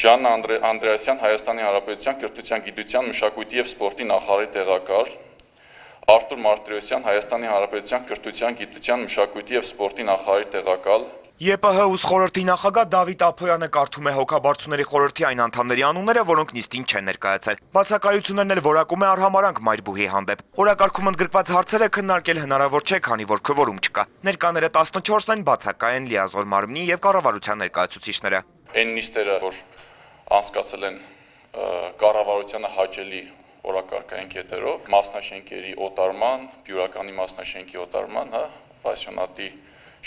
Ժաննա Անդրեասյան, Հայաստանի Հանրապետության կրթության, գիտության, մշակույթի և սպորտի նախարարի տեղակալ, Արտուր Մարտիրոսյան, Հայաստանի Հանրապետության կրթության, գիտության, մշակույթի և սպորտի նախարարի տեղակալ։ ԵՊՀ ՈՒՍ խորհրդի նախագահ Դավիթ Ափոյանը կարդում է հոգաբարձուների խորհրդի այն անդամների անունները, որոնք նիստին չեն ներկայացել։ Բացակայություններն էլ որակում է արհամարհանք Մայրբուհի հանդեպ։ Օրակարգում ընդգրկված հարցերը քննարկել հնարավոր չէ, քանի որ քվորում չկա։ Ներկաները 14 են, բացակայ են լիազոր մարմնի և կառավարության ներկայացուցիչները։ Այն նիստերը, որ անցկացել են կառավարությանը հաճելի օրակարգային կետերով, մասնաշենքերի օտարման, բյուրականի մասնաշենքի օտարման, պասիոնատի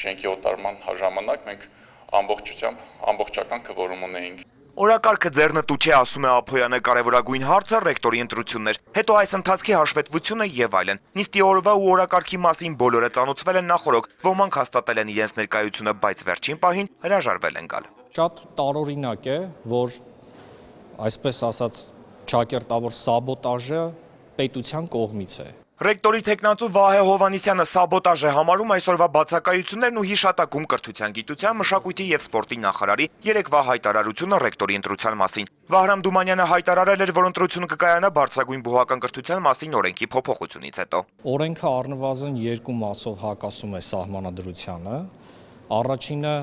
շենքի օտարման ժամանակ մենք ամբողջական քվորում ունեինք։ Օրակարգը ձեռնտու չէ, ասում է Ափոյանը, կարևորագույն հարցը ռեկտորի ընտրություններ, հետո այս ընթացքի հաշվետվությունը եւ այլն։ Նիստի օրվա ու օրակարգի մասին բոլորը ծանոթվել են նախօրոք, ոմանք հաստատել են իրենց ներկայությունը, բայց վերջին պահին հրաժարվել են գալ։ Շատ տարօրինակ է, որ այսպես ասած ճակերտավոր սաբոտաժը պետության կողմից է։ Ռեկտորի թեկնածու Վահե Հովհաննիսյանը սաբոտաժ է համարում այսօրվա բացակայություններն ու հիշատակում կրթության, գիտության, մշակույթի և սպորտի նախարարի երեկվա հայտարարությունը ռեկտորի ընտրության մասին։ Վահրամ Դումանյանը հայտարարել էր, որ ընտրությունը կկայանա բարձրագույն բուհական կրթության մասին օրենքի փոփոխությունից հետո։ Օրենքը առնվազն 2 մասով հակասում է սահմանադրությանը։ Առաջինը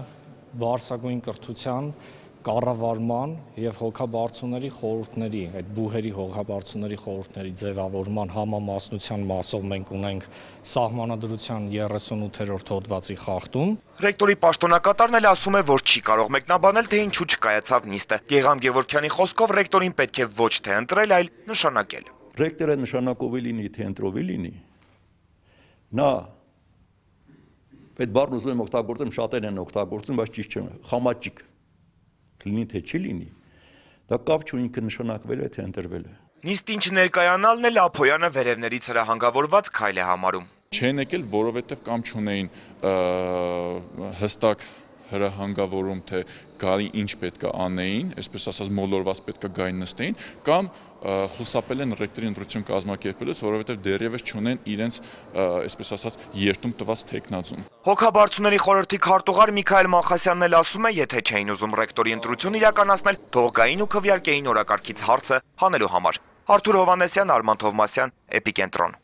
բարձրագույն կրթության կառավարման եւ հոգաբարձուների խորհուրդների, այդ բուհերի հոգաբարձուների խորհուրդների ձևավորման համամասնության մասով մենք ունենք սահմանադրության 38-րդ հոդվածի խախտում։ Ռեկտորի պաշտոնակատարն էլ ասում է, որ չի կարող մեկնաբանել, թե ինչու չկայացավ նիստը։ Գեգամ Գևորգյանի խոսքով ռեկտորին պետք է ոչ թե ընտրել, այլ նշանակել։ Ռեկտորը նշանակովի լինի, թե ընտրովի լինի։ Նա այդ բառն ուզում եմ օգտագործեմ, շատերն են օգտագործում, բայց ճիշտ չէ, խամաճիկ լինի թե չի լինի, դա կապ չունի ինքը նշանակվել է թե ընտրվել է։ Նիստին չներկայանալն էլ Ափոյանը վերևներից հրահանգավորված քայլ է համարում։ Չեն եկել, որովհետև կամ չունեին հստակ հրահանգավորում, թե գալի ինչ պետք է անեին, այսպես ասած մոլորված պետք է գային նստեին, կամ խուսափել են ռեկտորի ընտրություն կազմակերպելուց, որովհետև դեռևս չունեն իրենց, այսպես ասած, երդում տված թեկնածուն։ Հոգաբարձուների խորհրդի քարտուղար Միքայել Մախասյանն էլ ասում է, եթե չէին ուզում ռեկտորի ընտրություն իրականացնել, թող գային ու քվեարկեին օրակարգից հարցը հանելու համար։ Արթուր Հովհաննիսյան, Արման Թովմասյան, Էպիկենտրոն։